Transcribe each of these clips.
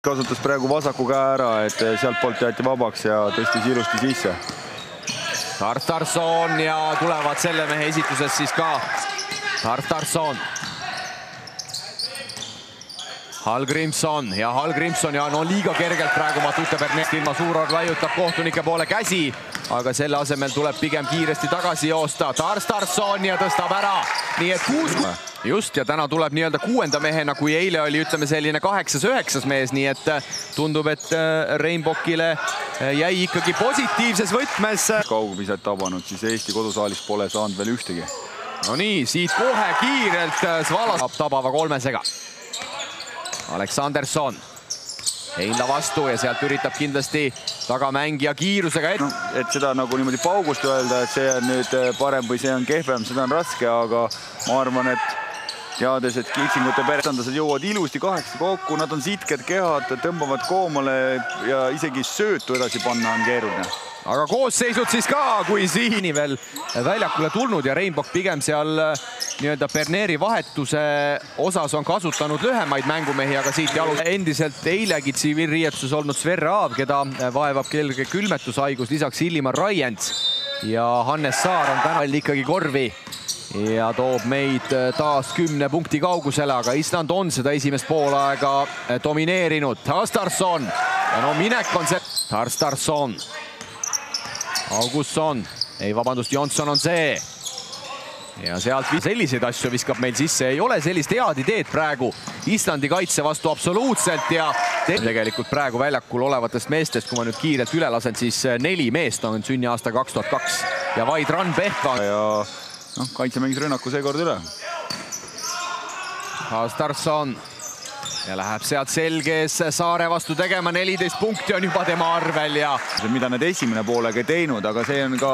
Kasutas praegu vasaku käe ära, et sealtpoolt jäeti vabaks ja tõstis ilusti sisse. Tartarson ja tulevad selle mehe esituses siis ka Tartarson. Hallgrimson ja no liiga kergelt praegu Matute Bernet ilma Suuror laiutab kohtunike poole käsi, aga selle asemel tuleb pigem kiiresti tagasi joosta. Tartarson ja tõstab ära, nii et 6. Just, ja täna tuleb nii-öelda 6. mehena, kui eile oli, ütleme, selline 8.-9. mees, nii et tundub, et Reinbokile jäi ikkagi positiivses võtmes. Kaugviset tabanud, siis Eesti kodusaalis pole saanud veel ühtegi. No nii, siit kohe kiirelt Svala saab tabava 3-sega. Aleksanderson Heinla vastu ja sealt üritab kindlasti tagamängija kiirusega no, et seda nagu niimoodi paugust öelda, et see on nüüd parem või see on kehvem, seda on raske, aga ma arvan, et teades, et Kitsingute perestandased jõuavad ilusti 8 kokku, nad on sitked kehad, tõmbavad koomale ja isegi söötu edasi panna on keeruline. Aga koosseisud siis ka, kui Siini veel väljakule tulnud ja Reinbok pigem seal nii-öelda Berneri vahetuse osas on kasutanud lühemaid mängumehi, aga siit jalus endiselt eilegi tsiviilriietuses olnud Sverre Aav, keda vaevab kelge külmetushaigus, lisaks Illimar Raients ja Hannes Saar on täna ikkagi korvi ja toob meid taas 10 punkti kaugusele, aga Island on seda esimest poolaega domineerinud. Tartarson ja no minek on see. Tartarson. Augustsson, ei vabandust, Jonsson on see. Ja sealt selliseid asju viskab meil sisse, ei ole sellist head ideed praegu Islandi kaitse vastu absoluutselt ja tegelikult praegu väljakul olevatest meestest, kui ma nüüd kiirelt üle lasen, siis 4 meest on sünniaasta 2002 ja vaid Rann Pehka. Ja noh, kaitse mängis rünnaku seekord üle. Tartarson ja läheb sealt selges Saare vastu tegema, 14 punkti on juba tema arvel ja mida need esimene poolega ei teinud, aga see on ka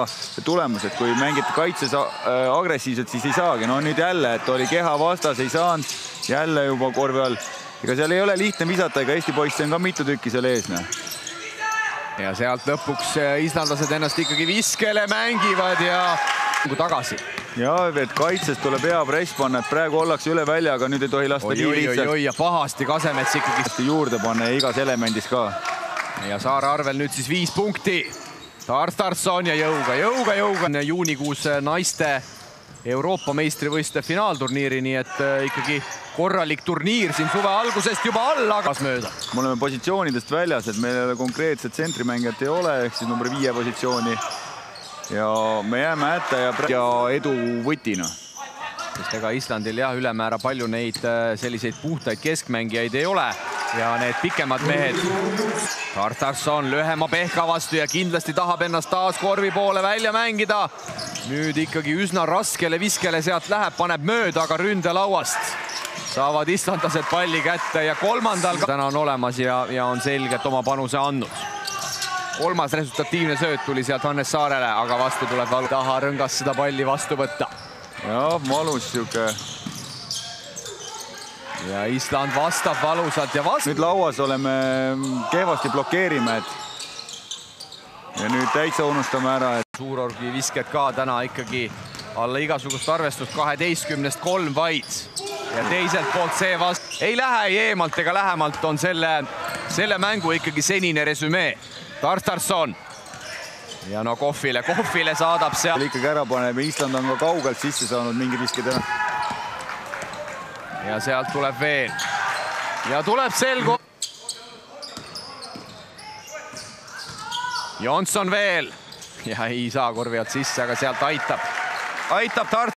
tulemus, et kui mängite kaitses agressiivselt, siis ei saagi. No nüüd jälle, et oli keha vastas, ei saanud jälle juba korvi all. Ega seal ei ole lihtne visata, ega Eesti poisse on ka mitu tükki seal ees. Ja sealt lõpuks islandlased ennast ikkagi viskele mängivad ja tagasi. Ja, et kaitses tuleb hea press panna, et praegu ollakse üle välja, aga nüüd ei tohi lasta nii lihtsalt. Ja pahasti Kasemets ikkagi juurde panna ja igas elemendis ka. Ja Saare arvel nüüd siis 5 punkti. Tartarson ja jõuga. Juunikuus naiste Euroopa meistrivõistluste finaalturniiri, nii et ikkagi korralik turniir siin suve algusest juba alla mööda. Me oleme positsioonidest väljas, et meil konkreetset tsentrimängijat ei ole, ehk siis number 5 positsiooni. Ja me jääme hätta ja edu võtina. Sest ega Islandil jah, ülemäära palju neid selliseid puhtaid keskmängijaid ei ole ja need pikemad mehed. Tartarson lühema Pehka vastu ja kindlasti tahab ennast taas korvi poole välja mängida. Nüüd ikkagi üsna raskele viskele sealt läheb, paneb mööda, aga ründelauast saavad islandlased palli kätte ja 3. täna on olemas ja on selgelt oma panuse andnud. 3. resultatiivne sööt tuli sealt Hannes Saarele, aga vastu tuleb valu taha rõngas seda palli vastu võtta. Ja, valus siuke. Ja Island vastab valusalt ja vastu. Nüüd lauas oleme kehvasti blokeerime, ja nüüd täitsa unustame ära, et Suurorgi visked ka täna ikkagi alla igasugust arvestust, 12-st 3 vaid. Ja teiselt poolt see vastu. Ei lähe ei eemalt ega lähemalt on selle mängu ikkagi senine resümee. Tartarson ja no Kohvile saadab seal. Ikkagi ära paneb ja Island on ka kaugelt sisse saanud mingi visked ära. Ja sealt tuleb veel. Ja tuleb selgu. Jonsson veel. Ja ei saa korvi alt sisse, aga sealt aitab Tart.